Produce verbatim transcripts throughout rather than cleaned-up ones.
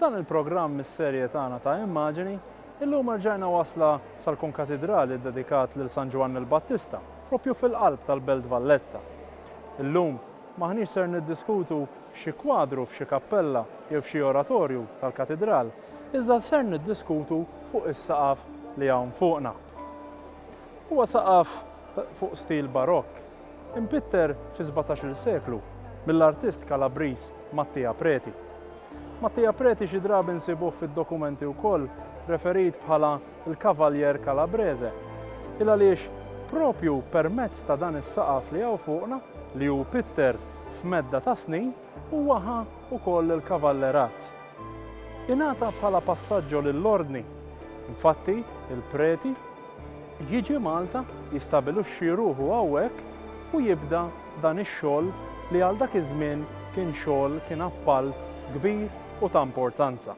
F'dan il-programm mis-serje tagħna ta' Immaġini, illum rġajna wasla sal-Konkatedrali dedikat lil San Ġwann il-Battista, propju fil-qalb tal-Belt Valletta. Illum maħniex ser niddiskutu xi kwadru f'xi kappella jew f'xi oratorju tal-katedral, iżda ser niddiskutu fuq is-saqaf li hawn fuqna. Huwa saqaf fuq stil barokk, impitter fi sbatax-il seklu mill-artist Kalabriż Mattia Preti. Mattia Preti xi drabi nsibuh fid-dokumenti wkoll referit bħala l-Kavaljer Calabrese. Il għaliex propju permezz ta' dan is-saqaf li hawn fuqna li hu pitter f'medda ta' snin huwa ħa wkoll il-kavallerat. Ingħata bħala passaġġo lill-ordni. Infatti, il-Preti jiġi Malta, jistabilixxi ruħu hawnhekk u jibda dan ix-xogħol li għal dak iż-żmien kien xogħol kien appalt kbir u ta' importanza.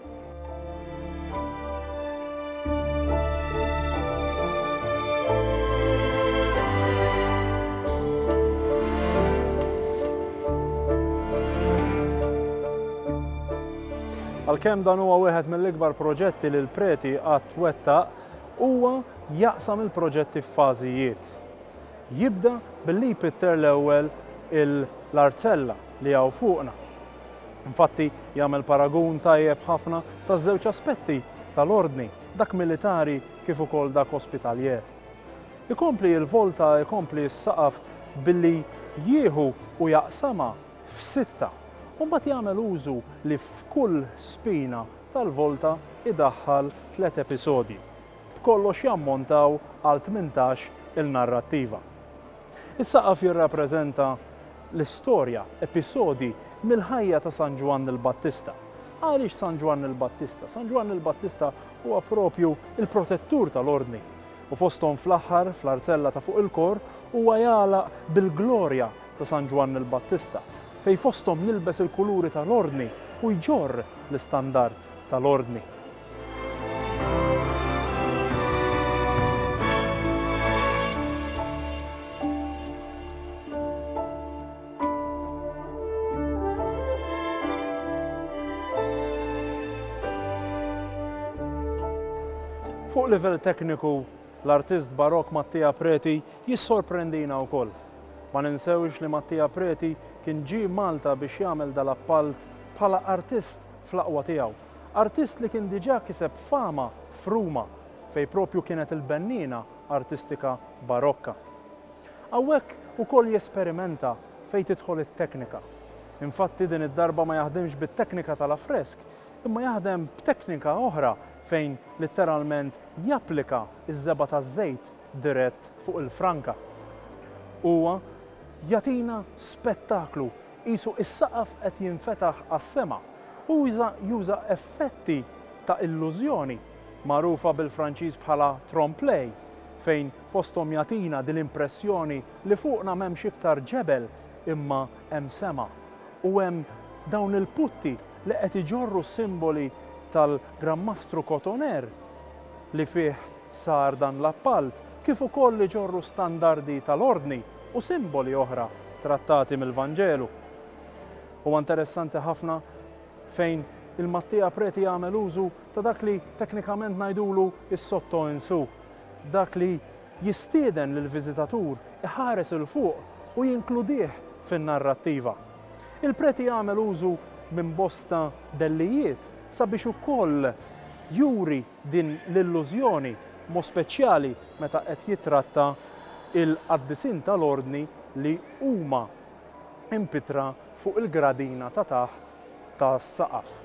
Għalkemm dan huwa wieħed mill-ikbar proġetti li l-Preti qatt wettaq, huwa jaqsam il-proġetti f'fażijiet. Jibda billi jpitter l-ewwel l-arzella li hawn fuqna. Infatti jagħmel paragun tajjeb ħafna taż-żewġ aspetti tal-ordni, dak militari kif ukoll dak ospitaljer. Ikompli l-volta, ikompli s-saqaf billi jieħu u jaqsama f'sitta. U mbagħad jagħmel użu li f'kull spina tal-volta idaħħal tliet episodji. B'kollox jammontaw għal tmintax il-narrattiva. Is-saqaf jirrappreżenta l-istorja, episodji mill-ħajja ta' San Ġwann il-Battista. Għaliex San Ġwann il-Battista? San Ġwann il-Battista huwa propju il-protettur tal-ordni. U fosthom fl-aħħar, fl-arzella ta' fuq il-kor, huwa jagħlaq bil-glorja ta' San Ġwann il-Battista, fej fosthom jilbes il-kuluri tal-ordni u jġorr l-istandard tal-ordni. Fuq livell tekniku, l-artist barok Mattia Preti jissorprendina wkoll. Ma ninsewx li Mattia Preti kien ġie Malta biex jagħmel dal-appalt bħala artist fl-aqwa tiegħu. Artist li kien diġà kiseb fama f'Ruma, fej propju kienet il-bennina artistika barokka. Hawnhekk ukoll jesperimenta fejn tidħol it-teknika. Infatti din id-darba ma jaħdimx bit-teknika tal-affresk, imma jaħdem b'teknika oħra fejn letteralment japplika iż-żebgħa taż-żejt dirett fuq il-franka. Huwa jagħtina spettaklu qisu is-saqaf qed jinfetaħ għas-sema u juża effetti ta' illużjoni magħrufa bil-Franċiż bħala trompe-l'œil, fejn fosthom jagħtina din l-impressjoni li fuqna m'hemmx iktar ġebel imma hemm sema u hemm dawn il-putti li qed iġorru simboli tal-Gran Mastru Cotoner li fih sar dan l-appalt, kif ukoll li ġorru standardi tal-ordni u simboli oħra trattati mill-Vanġelu. Huwa interessanti ħafna fejn il-Mattia Preti jagħmel użu ta' dak li teknikament ngħidulu is-sotto in su, dak li jistieden lill-viżitatur iħares il fuq u jinkludih fin-narrattiva. Il-Preti jagħmel użu minn bosta dellijiet sabiex ukoll juri din l-illużjoni, mo speċjali meta qed jitratta il-qaddisin tal-ordni li huma impitra fuq il-gradina ta' taħt tas-saqaf.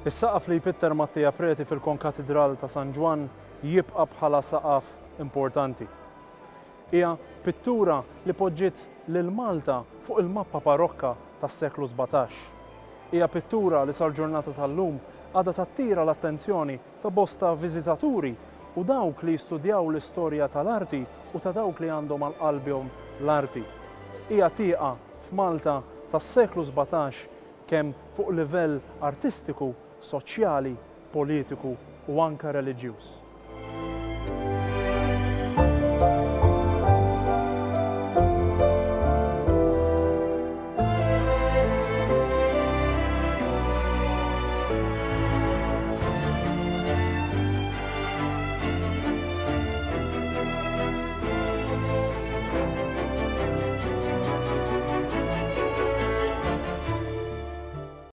Is-saqaf li jpitter Mattia Preti fil-Konkatedral ta' San Ġwann jibqa' bħala saqaf importanti. Hija pittura li poġġiet lil Malta fuq il-mappa barokka tas-seklu sbatax. Hija pittura li sal-ġurnata tal-lum għadha tattira l-attenzjoni ta' bosta viżitaturi u dawk li jistudjaw l-istorja tal-arti u ta' dawk li għandhom għal qalbhom l-arti. Hija tieqa f'Malta tas-seklu sbatax kemm fuq livell artistiku, soċjali, politiku u anke reliġjuż.